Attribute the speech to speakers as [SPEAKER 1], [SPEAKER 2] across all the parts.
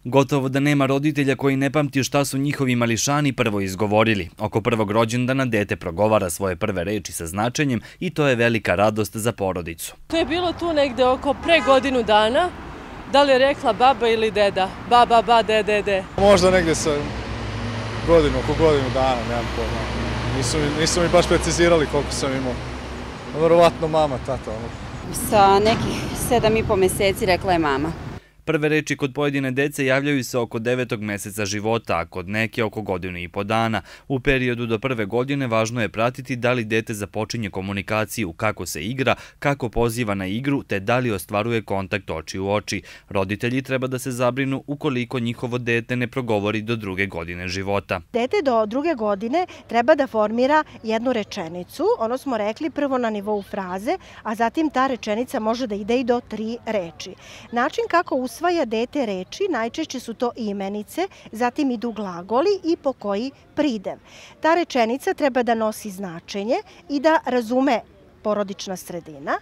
[SPEAKER 1] Gotovo da nema roditelja koji ne pamti šta su njihovi mališani prvo izgovorili. Oko prvog rođendana dete progovara svoje prve reči sa značenjem i to je velika radost za porodicu.
[SPEAKER 2] To je bilo tu negde oko pre godinu dana. Da li je rekla baba ili deda? Baba, ba, dede.
[SPEAKER 3] Možda negde sa oko godinu dana, nemam pojma. Nisu mi baš precizirali koliko sam imao. Verovatno mama, tata.
[SPEAKER 4] Sa nekih 7,5 meseci rekla je mama.
[SPEAKER 1] Prve reči kod pojedine dece javljaju se oko 9. meseca života, a kod neke oko godinu i po dana. U periodu do prve godine važno je pratiti da li dete započinje komunikaciju, kako se igra, kako poziva na igru, te da li ostvaruje kontakt oči u oči. Roditelji treba da se zabrinu ukoliko njihovo dete ne progovori do 2. godine života.
[SPEAKER 5] Dete do 2. godine treba da formira jednu rečenicu, ono smo rekli prvo na nivou fraze, a zatim ta rečenica može da ide i do 3 reči. Način kako usvaja dete reči, najčešće su to imenice, zatim idu glagoli i po koji pridev. Ta rečenica treba da nosi značenje i da razume porodična sredina.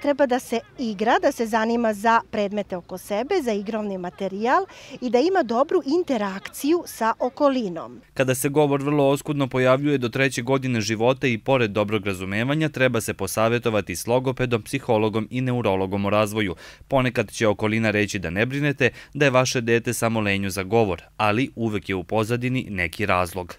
[SPEAKER 5] Treba da se igra, da se zanima za predmete oko sebe, za igrovni materijal i da ima dobru interakciju sa okolinom.
[SPEAKER 1] Kada se govor vrlo oskudno pojavljuje do 3. godine života i pored dobrog razumevanja, treba se posavetovati s logopedom, psihologom i neurologom o razvoju. Ponekad će okolina reći da ne brinete, da je vaše dete samo lenju za govor, ali uvek je u pozadini neki razlog.